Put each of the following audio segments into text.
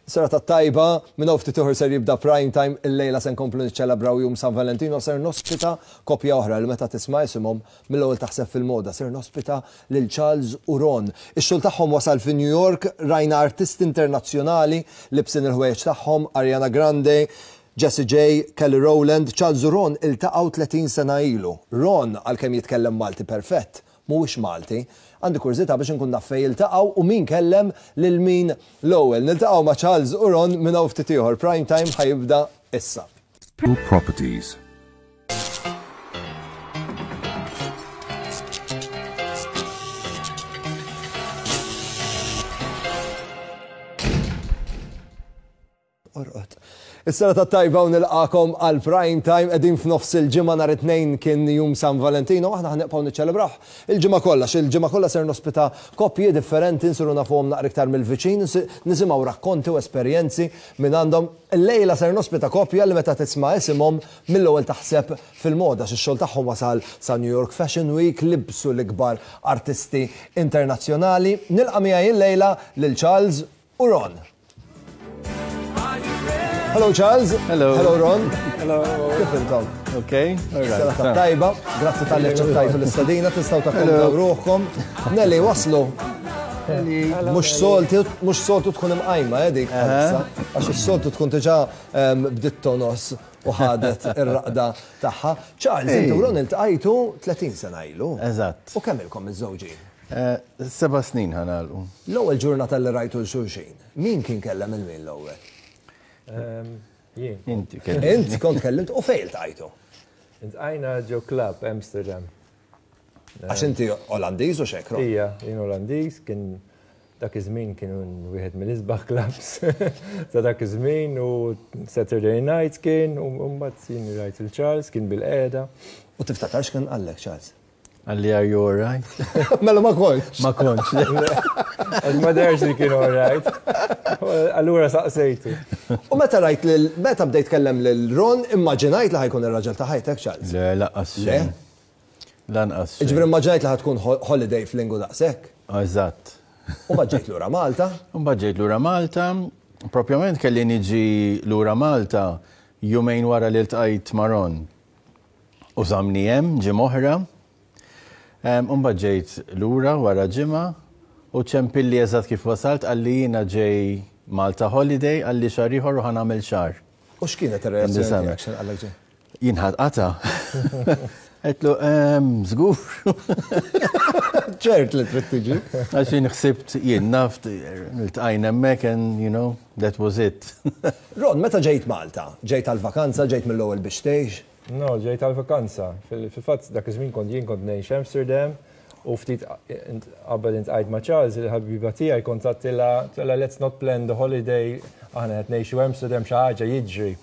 Serata tajba, minn hawn ftit ieħor ser jibda prime time, illejla se nkomplu niċċelebraw jum San Valentino, ser nospita koppja oħra li meta tisma' isimhom mill-ewwel taħseb fil-moda, ser nospita lil Charles u Ron. Ix-xogħol tagħhom wasal fi New York, rajna artisti internazzjonali libsin il-ħwejjeġ tagħhom, Ariana Grande, Jessie J, Kelly Rowland, Charles u Ron iltaqgħu 30 sena ilu. Ron, għalkemm jitkellem Malti perfett, mhuwiex Malti. Għandi kurżità biex inkun naf fejn iltaqgħu u min kellem lil min l-ewwel. Niltaqgħu ma' Charles u Ron minn hawn ftit ieħor. Prime Time ħa jibda issa. Properties. Orqod. Is-serata t-tajba u nilqagħkom għal Prime Time qegħdin f'nofs il-ġimgħa nhar it-Tnejn kien jum San Valentino aħna ħa nibqgħu niċċelebrawh il-ġimgħa kollha għax il-ġimgħa kollha ser nospita koppji differenti nsiru nafuhom naqra iktar mill-viċin nisimgħu rakkonti u esperjenzi minn għandhom. Illejla ser nospita koppja li meta tisma' isimhom mill-ewwel taħseb fil-moda għax ix-xogħol tagħhom wasal sa New York Fashion Week, libsu l-ikbar artisti internazzjonali. Nilqa' miegħi illejla lil Charles u Ron. Hello Charles. Hello. Hello Ron. Hello. Kif intom? Ok. Serata tajba. Grazzi talli aċċettajtu l-istedina, tistgħu takkomdaw ruħkom. Nelly waslu. Mhux soltu, mhux soltu tkun imqajma eh, dik bħalissa, għax is-soltu tkun diġà ehm, bdiet tonos u ħadet ir-raqda tagħha. Charles, inti u Ron iltqajtu 30 sena ilu. Eżatt. U kemm ilkom miżżewġin? Seba' snin ħa nagħlqu. L-ewwel ġurnata li rajtu 'l xulxin, min kien kellem 'il min l-ewwel? Jien. Inti kellimt. Int kont kellimt u fejn iltqajtu? Iltqajna ġo club Amsterdam. Għax inti Olandiż u x'hekk, Ron? Ija, jien Olandiż, kien dak iż-żmien kien wieħed mill-isbaħ clubs ta' dak iż-żmien u Saturday night kien u mbagħad jien rajt il Charles kien bil-qiegħda. U tiftakar x'kien qallek Charles? Qalli are you alright? Mela ma kontx. Ma kontx. Għax ma deherx li kien alright. Allura saqsejtu. U meta rajt lil meta bdejt tkellem lil Ron, immaġinajt li ħa jkun ir-raġel ta' ħajtek, Charles? Le, lanqas Le? xejn. Lanqas xejn. Jiġifieri immaġinajt li ħa tkun holiday f'Lingu daqshekk? Eżatt. U mbagħad ġejt lura Malta? U mbagħad ġejt lura Malta. Propjament kelli niġi lura Malta jumejn wara li ltqajt ma' Ron. U żammni hemm ġimgħa oħra. U mbagħad ġejt lura wara ġimgħa u ċempilli eżatt kif wasalt qalli jiena ġej Malta holiday qalli xahar ieħor u ħa nagħmel xahar. U x'kienet ir-reazzjoni tiegħek x'ħin qallek ġej? Jien ħadt qatgħa. Għedtlu, żgur. Ċert li trid tiġi. Għax jien ħsibt jien naf iltqajna hemmhekk and you know, that was it. Ron, meta ġejt Malta? Ġejt għall-vakanza, ġejt mill-ewwel biex tgħix? No, ġejt għall-vakanza. Fil-fatt dak iż-żmien kont jien kont ngħix Amsterdam u ftit qabel intqajt ma' Charles, il-ħabiba tiegħi kont għedtilha let's not plan the holiday, aħna qed ngħixu Amsterdam xi ħaġa jiġri.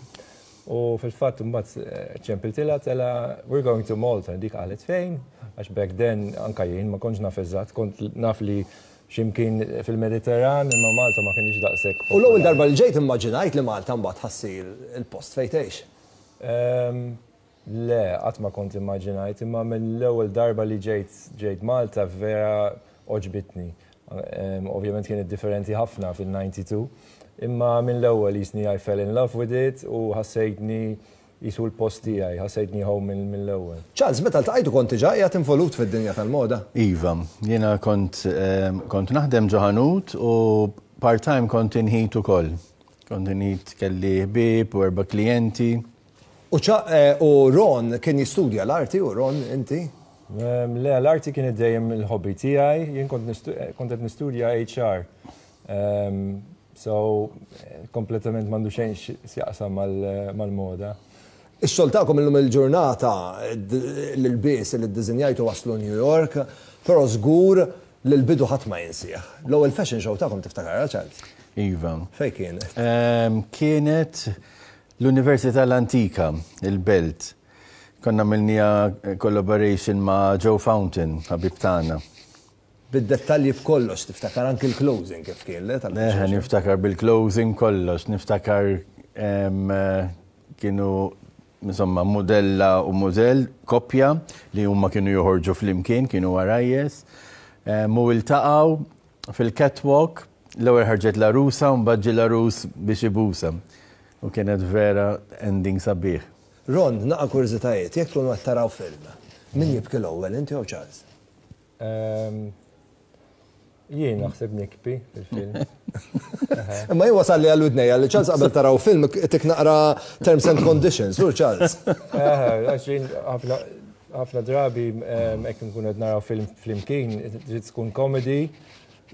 U fil-fatt imbagħad ċempiltilha għedtilha we're going to Malta, dik qalet fejn, għax back then anka jien ma kontx naf eżatt, kont naf li x'imkien fil-Mediterran imma Malta ma kinitx daqshekk. U l-ewwel darba li ġejt immaġinajt li Malta mbagħad ħa ssir il-post fejn tgħix? Le, qatt ma kont immaġinajt, imma mill-ewwel darba li ġejt ġejt Malta vera għoġbitni. Ovvjament kienet differenti ħafna fil-92, imma mill-ewwel jisni I fell in love with it u ħassejtni jisu l-post tiegħi, ħassejtni home mill-ewwel. Charles, meta ltqajtu kont diġà qiegħed involut fid-dinja tal-moda? Iva, jiena kont kont naħdem ġo ħanut u part-time kont inħit ukoll. Kont inħit kelli ħbieb u erba' klijenti. U ċa, u Ron kien jistudja l-arti u Ron inti? Le, l-arti kienet dejjem il-hobby tiegħi, jien kont kont qed nistudja HR. So, kompletament m'għandu xejn x'jaqsam mal-moda. Ix-xogħol tagħkom illum il-ġurnata, l-ilbies li ddisinjajtu waslu New York, però żgur li l-bidu ħadd ma jinsih. L-ewwel fashion show tagħkom tiftakarha, Charles? Iva. Fejn kienet? Kienet l-Università l-Antika, il-Belt. Konna għamilniha collaboration ma' Joe Fountain, ħabib tagħna. Bid-dettalji b'kollox, tiftakar anki l-closing kif kien, le? Eħe, niftakar bil-closing kollox, niftakar kienu insomma mudella u mudell, koppja li huma kienu joħorġu flimkien, kienu għarajjes. U iltaqgħu fil-catwalk. L-ewwel ħarġet l-għarusa u mbagħad ġie l-għarus biex ibusha. U kienet vera ending sabiħ. Ron, naqa' kurżitajiet, jekk tkunu qed taraw film, min jibki l-ewwel, inti jew Charles? Jien naħseb nikbi fil-film. Imma jien wasalli għal widnejja li Charles qabel taraw film tik naqra terms and conditions, hu Charles. Għax jien ħafna drabi hekk nkunu qed naraw film flimkien, trid tkun comedy,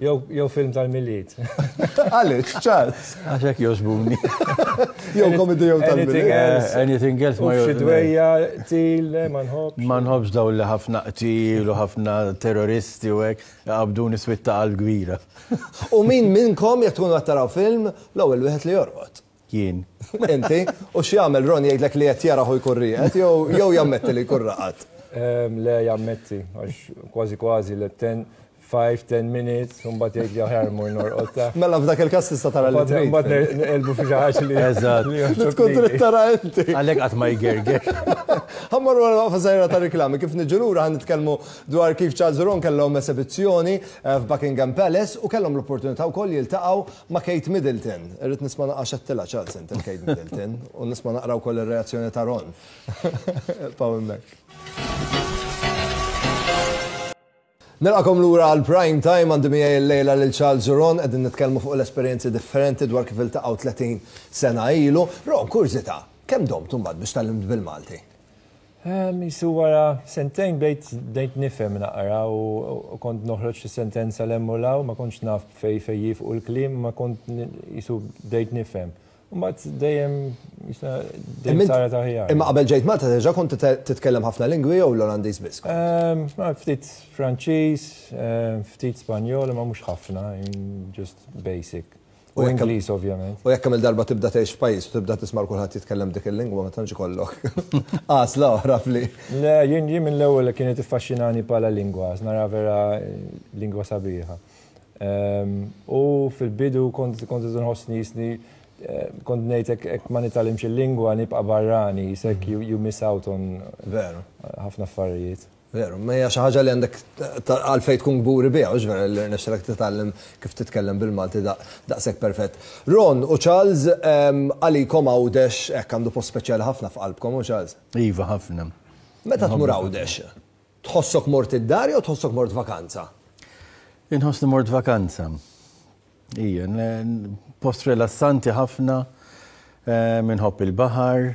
Jew film tal-Milied. Għaliex, Charles? Għax hekk jogħġbuni. Jew comedy jew tal-Milied. Anything else ma Xi dwejja, qtil, ma nħobbx. Ma nħobbx dawn li ħafna qtil u ħafna terroristi u hekk, iqabbduni swied ta' qalb kbira. U min minnkom jekk tkunu qed taraw film, l-ewwel wieħed li jorqod? Jien. Inti? U x'jagħmel Ron jgħidlek li qed jarah u jkun rieqed jew jammetti li jkun raqad? Le jammetti, għax kważi kważi le 10, 5, 10 minutes, u mbagħad jgħid li aħjar mmur norqod ta. Mela f'dak il-każ tista' tara li trid. Mbagħad neqilbu fi xi ħaġa li. Eżatt. Li tkun trid tara inti. Għalhekk qatt ma jgerger. Ħa mmorru għal waqfa żgħira ta' riklami. Kif niġu lura ħa nitkellmu dwar kif Charles u Ron kellhom esebizzjoni f'Buckingham Palace u kellhom l-opportunità wkoll jiltaqgħu Ma' Kate Middleton. Irrid nisma' naqra x'għedtilha Charles int il Kate Middleton u nisma' naqra wkoll ir-reazzjoni ta' Ron. Ibqgħu hemmhekk. Nilqakom lura għal Prime Time għandi miegħi llejla lil Charles u Ron qegħdin nitkellmu fuq l-esperjenzi differenti dwar kif iltaqgħu 30 sena ilu. Ron, kurżità, kemm domt imbagħad biex tgħallimt bil-Malti? Qisu wara sentejn bdejt bdejt nifhem naqra u kont noħroġ xi sentenza 'l hemm u 'l hawn, ma kontx naf fejn fejn jifqu l-kliem imma kont qisu bdejt nifhem. U mbagħad dejjem qisha dejjem saret aħjar. Imma qabel ġejt Malta diġà kont titkellem ħafna lingwi jew l-Olandiż biss kont? Ftit Franċiż, ftit Spanjol imma mhux ħafna, just basic. U Ingliż ovvjament. U jekk kemm-il darba tibda tgħix f'pajjiż u tibda tisma' 'l kulħadd jitkellem b'dik il-lingwa ma tantx ikollok għażla oħra fli. Le, jien jien mill-ewwel kienet tiffaxxinani bħala lingwa, għax nara vera lingwa sabiħa. U fil-bidu kont kont inħossni jisni kont ngħid hekk ma nitgħallimx il-lingwa nibqa' barrani, jisek you miss out on Veru. ħafna affarijiet. Veru, ma hija xi ħaġa li għandek għalfejn tkun kburi biha, hux vera li rnexxilek titgħallem kif titkellem bil-Malti daqshekk perfett. Ron u Charles, għalikom Għawdex hekk għandu post speċjali ħafna f'qalbkom, hu Charles? Iva, ħafna. Meta tmur Għawdex, tħossok mort id-dar jew tħossok mort vakanza? Inħossni mort vakanza. Ija, post rilassanti ħafna, inħobb il-baħar.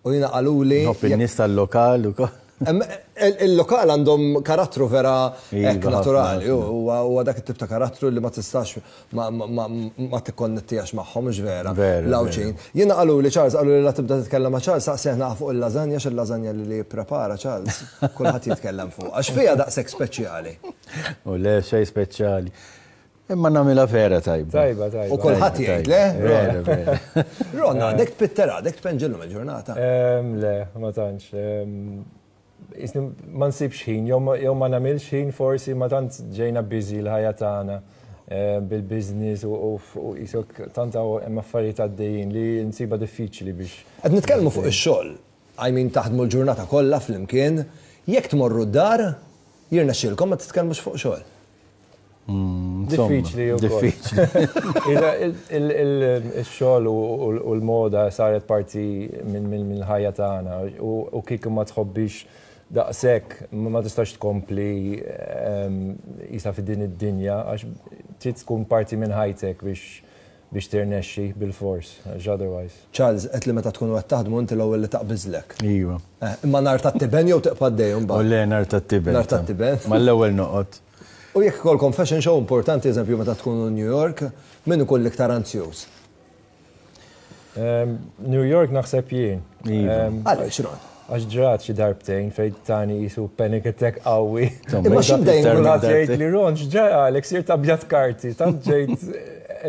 U jiena qaluli. Nħobb in-nies tal-lokal ukoll. Il-lokal għandhom karattru vera hekk naturali, huwa dak it-tip ta' karattru li ma tistax ma tikkonnettihx magħhom, mhux vera? L-Għawdxin. Jiena qaluli Charles, qaluli la tibda titkellem ma' Charles, saqsih naqa' fuq il-lażanja għax il-lażanja li jipprepara Charles, kulħadd jitkellem fuqha. X'fiha daqshekk speċjali? U le, xejn speċjali. Imma nagħmilha vera tajba. Tajba, tajba. U kulħadd jgħid, le? Vera, vera. Ron, għadek tpitter, għadek tpenġillum il-ġurnata. Le, ma tantx. Ma nsibx ħin, jew ma nagħmilx ħin forsi ma tant ġejna busy l-ħajja tagħna bil-business u jisok tant hemm affarijiet għaddejjin li nsibha diffiċli biex. Qed nitkellmu fuq ix-xogħol. I mean taħdmu l-ġurnata kollha flimkien, jekk tmorru d-dar, jirnexxielkom ma titkellmux fuq xogħol. Diffiċli u Diffiċli. Il-xogħol u l-moda saret parti mill-ħajja tagħna u kieku ma tħobbix daqshekk ma tistax tkompli qisha fi din id-dinja għax trid tkun parti minn ħajtek biex biex tirnexxi bilfors, għax otherwise. Charles, għedt li meta tkunu qed taħdmu inti l-ewwel li taqbiżlek. Iva. Eh, imma nar tat-tiben jew tiqpa' għaddej imbagħad? O le, nar tat-tiben. Nar tat-tiben. Mal-ewwel noqgħod. U jekk ikollkom fashion show importanti, eżempju meta tkunu New York, min ikun l-iktar anzjuż? New York naħseb jien. Iva. Għaliex, Ron? Għax ġrat xi darbtejn fejn tani qisu panic attack qawwi. Imma x'ibda jinkwita? Kulħadd jgħid li Ron x'ġaralek sirt abjad karti, tant ġejt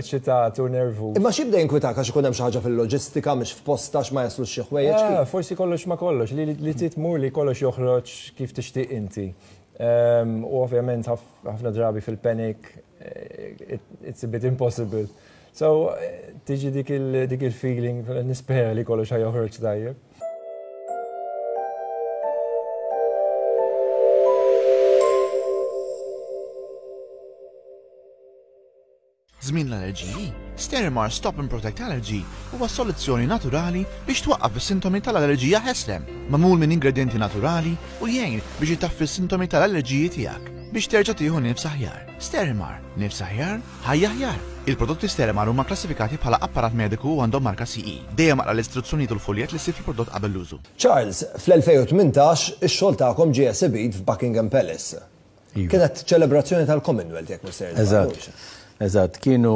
eċitat u nervuż. Imma x'jibda jinkwitak għax ikun hemm xi ħaġa fil-loġistika mhix f'postha għax ma jaslux xi ħwejjeġ? Ah, forsi kollox ma kollox, li trid tmur li kollox joħroġ kif tixtieq inti. U ovvjament ħafna drabi fil-panic it's a bit impossible. So, tiġi dik il-feeling, nispera li kollox ħa joħroġ tajjeb. Żmien l-allerġiji, Sterimar Stop and Protect Allergy huwa soluzzjoni naturali biex twaqqaf is-sintomi tal-allerġija ħesrem, magħmul minn ingredjenti naturali u jgħin biex itaffi s-sintomi tal-allerġiji tiegħek biex terġa' tieħu nifs aħjar. Sterimar, nifs aħjar, ħajja aħjar. Il-prodotti Sterimar huma kklassifikati bħala apparat mediku u għandhom marka CE. Dejjem aqra l-istruzzjonijiet u l-fuljett li ssib fil-prodott qabel l-użu. Charles, fl-2018 ix-xogħol tagħkom ġie esibit f'Buckingham Palace. Iva. Kienet ċelebrazzjoni tal-Commonwealth jekk mhux sejjer. Eżatt. Eżatt, kienu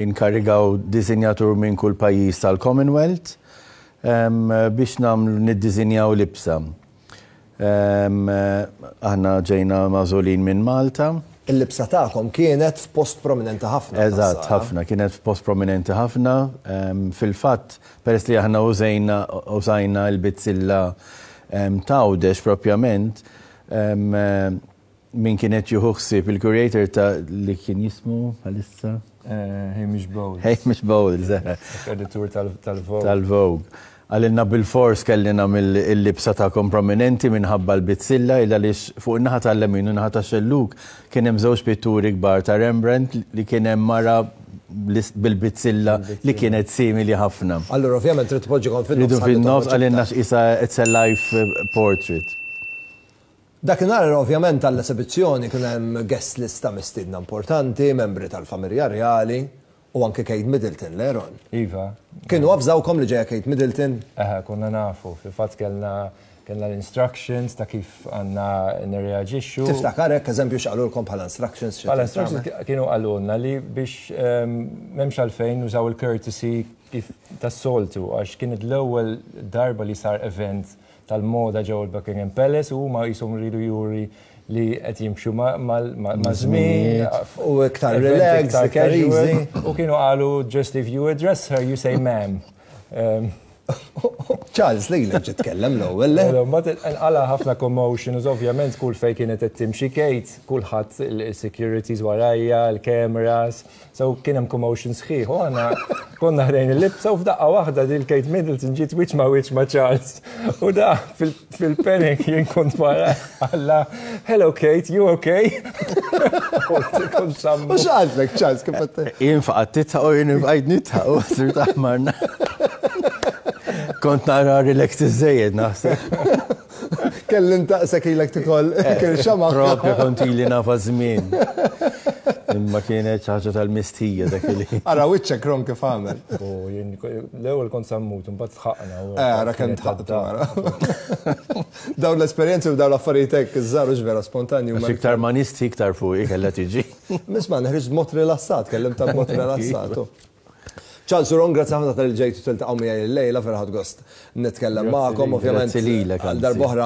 inkarigaw disinjatur minn kull pajjiż tal-Commonwealth biex nagħmlu niddisinjaw libsa. Aħna ġejna magħżulin minn Malta. Il-libsa tagħkom kienet f'post prominenti ħafna. Eżatt, ħafna, kienet f'post prominenti ħafna. Fil-fatt, peress li aħna użejna użajna l-bizzilla t'Għawdex propjament, min kien qed jieħu ħsieb il-curator ta' li kien jismu bħalissa? Hamish Bowles. Hamish Bowles, eħe. Editur tal-Vogue. Tal-Vogue. Qalilna bilfors kelli nagħmel il-libsa tagħkom prominenti minħabba l-bizzilla il għaliex fuq in-naħa tal-lemin u n-naħa tax-xellug kien hemm żewġ pitturi kbar ta' Rembrandt li kien hemm mara bil-bizzilla li kienet simili ħafna. Allura ovvjament trid tpoġġikom fin-nofs. Ridu fin-nofs qalilna x'qisha it's a life portrait. Dakinhar ovvjament għall-esebizzjoni kien hemm guest list ta' mistiedna importanti, membri tal-familja rjali u anke Kate Middleton, le Ron? Iva. Kienu avżawkom li ġejja Kate Middleton? Eħe, konna nafu. Fil-fatt kellna Kellna l-instructions ta' kif għandna nirreaġixxu. Tiftakar hekk eżempju x'qalulkom bħala instructions? Bħala instructions kienu qalulna li biex m'hemmx għalfejn nużaw il-courtesy kif tas-soltu għax kienet l-ewwel darba li sar event tal-moda ġewwa l-Buckingham Palace u huma qishom riedu juri li qed jimxu maż-żmien. U iktar relaxed, iktar easy. U kienu qalu just if you address her you say ma'am. Charles, lilek ġiet tkellem l-ewwel, le? Mbagħad inqala' ħafna commotion u ovvjament kull fejn kienet qed timxi Kate, kulħadd il-securities warajja, il-cameras, so kien hemm commotion sħiħ. U aħna konna ħdejn il-libsa u f'daqqa waħda dil Kate Middleton ġiet wiċċ ma' wiċċ ma' Charles. U da fil-panic jien kont wara alla, hello Kate, you okay? U x'għadlek Charles kif qed Jien faqgħet titħaq u jien bqajt nitħaq u sirt aħmar. Kont nara relax iżejjed naħseb. Kellim taqsek ilek tikol eh, kien xama. Propju kont ili nafa żmien. Imma kienet xi ħaġa tal-mistħija dak li. Ara wiċċek ron kif għamel. U jien l-ewwel kont sammut, imbagħad tħaqna. Eh, ara kemm tħaqtu ara. Dawn l-esperjenzi u dawn l-affarijiet hekk iż-żgħar hux vera spontanji huma. Iktar ma nistħi iktar fuqi kellha tiġi. Isma' nħriġt b'mod rilassat, kellimtha b'mod rilassat. Charles u Ron, grazzi ħafna tal-li ġejtu tiltaqgħu miegħi illejla, vera ħadt gost nitkellem magħkom, ovvjament. Grazzi lilek. Għal darb'oħra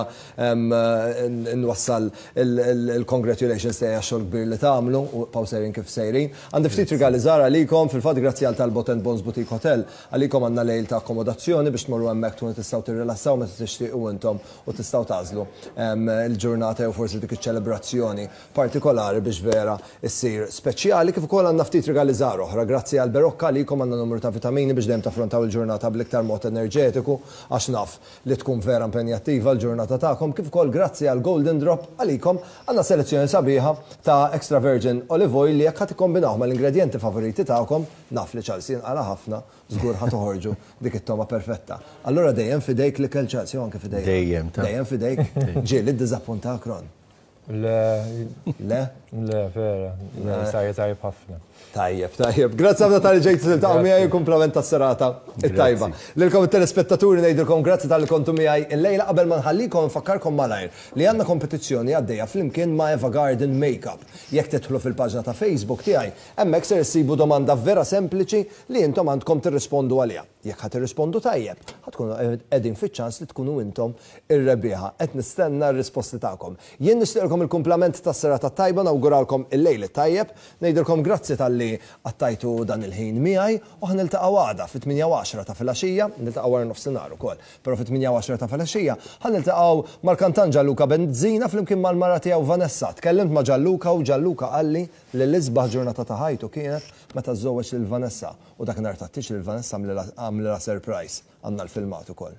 nwassal il-congratulations tiegħi għax-xogħol kbir li tagħmlu u ibqgħu sejrin kif sejrin. Għandi ftit rigali żgħar għalikom, fil-fatt grazzi għal Talbot and Bonds Boutique Hotel, għalikom għandna lejl ta' akkomodazzjoni biex tmorru hemmhekk tkunu tistgħu tirrilassaw meta tixtiequ intom u tistgħu tagħżlu l-ġurnata jew forsi dik iċ-ċelebrazzjoni partikolari biex vera ssir speċjali, kif ukoll għandna ftit rigali żgħar oħra. Grazzi għal Berocca għalikom għandna numru ta' vitamini biex dejjem taffrontaw il-ġurnata bl-iktar mod enerġetiku għax naf li tkun vera impenjattiva l-ġurnata tagħkom, kif ukoll grazzi għal Golden Drop għalikom għandna selezzjoni sabiħa ta' extra virgin olive oil li jekk ħa tikkombinawh mal-ingredjenti favoriti tagħkom, naf li Charles jinqala' ħafna, żgur ħa toħorġu dik it-togħma perfetta. Allura dejjem f'idejk l-ikel Charles jew anke f'idejja? Dejjem ta. Dejjem f'idejk? Ġieli ddiżappuntak Ron? Le. Le? Le, vera. Le, sajja tajjeb ħafna. Tajjeb, tajjeb. Grazzi ħafna tal-li ġejtu tiltaqgħu miegħi u kumplament tas-serata it-tajba. Lilkom it-telespettaturi ngħidilkom grazzi tal-li kontu miegħi illejla qabel ma nħallikom nfakkarkom malajr li għandna kompetizzjoni għaddejja flimkien ma' Eva Garden Makeup. Jekk tidħlu fil-paġna ta' Facebook tiegħi, hemmhekk ser issibu domanda vera sempliċi li intom għandkom tirrispondu għaliha. Jekk ħa tirrispondu tajjeb, ħa tkunu qegħdin fiċ-ċans li tkunu intom ir-rebbieħa. Qed nistenna r-risposti tagħkom. Jien nixtieqilkom il-kumplament tas-serata t-tajba, nawguralkom il-lejl it-tajjeb, ngħidilkom grazzi talli qattajtu dan il-ħin miegħi u ħa niltaqgħu għada fit-tmienja u għaxra ta' filgħaxija, niltaqgħu wara nofsinhar ukoll, però fit-tmienja u għaxra ta' filgħaxija ħa niltaqgħu mal-kantant Gianluca Benzina flimkien mal-mara tiegħu Vanessa. Tkellimt ma' Gianluca u Gianluca qalli li l-isbaħ ġurnata ta' ħajtu kienet meta żżewweġ lil Vanessa U dakinhar tat-tieġ lil Vanessa għamlilha surprise. Għandna l-filmat ukoll.